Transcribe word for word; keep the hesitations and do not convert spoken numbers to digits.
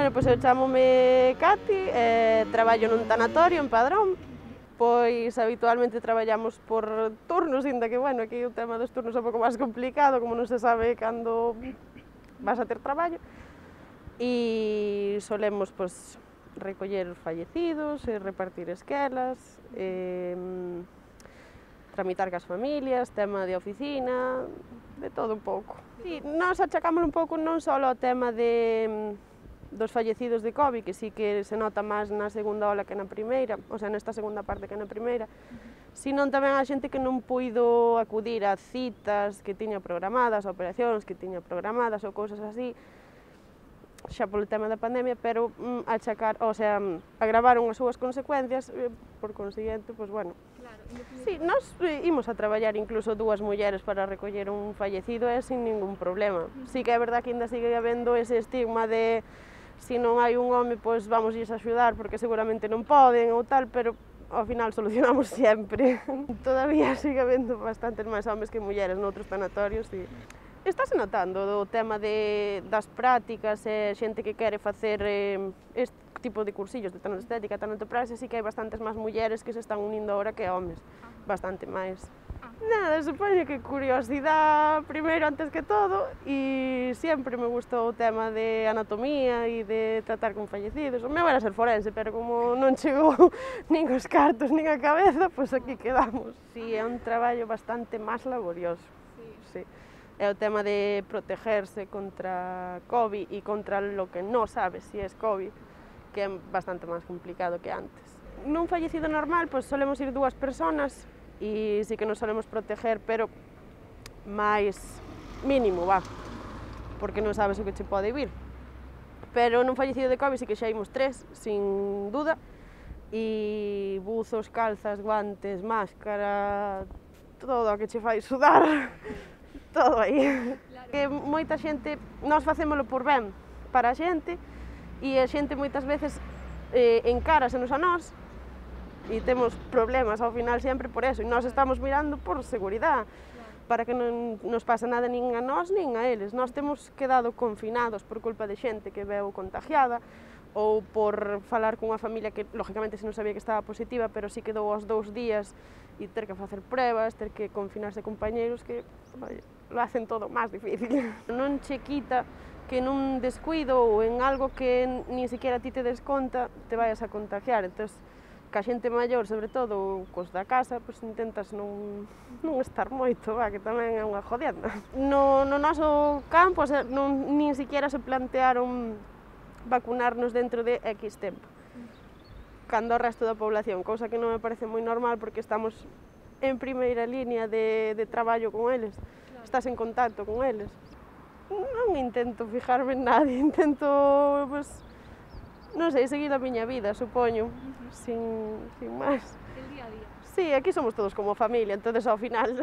Bueno, pois eu chamome Cati, eh, traballo nun tanatorio en Padrón. Pois habitualmente traballamos por turnos, inda que, bueno, aquí o tema dos turnos é un pouco máis complicado, como non se sabe cando vas a ter traballo. E solemos, pois, recoller fallecidos, e repartir esquelas, e tramitar cas familias, tema de oficina, de todo un pouco. E nós achacámoslo un pouco non só ao tema de dos fallecidos de COVID, que sí que se nota máis na segunda ola que na primeira, o sea, nesta segunda parte que na primeira, sino tamén a xente que non puido acudir a citas que tiña programadas, a operacións que tiña programadas ou cousas así, xa polo tema da pandemia, pero mm, achacar, o sea, agravaron as súas consecuencias, e, por consiguiente, pois, bueno. Claro, sí, nós imos a traballar incluso dúas mulleres para recoller un fallecido e sin ningún problema. Sí que é verdad que ainda sigue habendo ese estigma de se non hai un home, pois vamos a axudar porque seguramente non poden ou tal, pero ao final solucionamos sempre. Todavía sigue habendo bastantes máis homes que mulleres noutros tanatorios e estáse notando o tema de, das prácticas e xente que quere facer eh, este tipo de cursillos de tanoestética, tanotopraxia, sí que hai bastantes máis mulleres que se están unindo agora que homes, bastante máis. Nada, supoño que curiosidade primeiro antes que todo, e sempre me gustou o tema de anatomía e de tratar con fallecidos. O meu era ser forense, pero como non chegou nin os cartos nin a cabeza, pois aquí quedamos. Si, é un traballo bastante máis laborioso. Sí. É o tema de protegerse contra COVID e contra lo que non sabes si é COVID, que é bastante máis complicado que antes. Nun fallecido normal, pois solemos ir dúas personas, e sí que nos solemos proteger, pero máis mínimo, va, porque non sabes o que che pode vir. Pero nun fallecido de COVID sí que xa imos tres, sin duda, e buzos, calzas, guantes, máscara, todo o que che fai sudar, todo aí. Que moita xente, nós facémolo por ben para a xente, e a xente moitas veces eh, encárasenos a nós, e temos problemas ao final sempre por eso, e nós estamos mirando por seguridade, para que non nos pase nada nin a nós nin a eles. Nós temos quedado confinados por culpa de xente que veu contagiada, ou por falar cunha familia que, lógicamente, se non sabía que estaba positiva, pero sí quedou aos dous días e ter que facer pruebas, ter que confinarse compañeros que, oye, lo hacen todo máis difícil. Non che quita que nun descuido ou en algo que ni siquiera ti te des conta, te vayas a contagiar. Entón, ca xente maior, sobre todo, cos da casa, pois intentas non, non estar moito, va, que tamén é unha jodienda. No, no noso campo, o sea, non, nin siquiera se plantearon vacunarnos dentro de X tempo, cando o resto da población, cousa que non me parece moi normal, porque estamos en primeira línea de, de traballo con eles, estás en contacto con eles. Non intento fijarme en nadie, intento, pues, non sei, seguir a miña vida, supoño, sin, sin máis. El día a día. Sí, aquí somos todos como familia, entonces ao final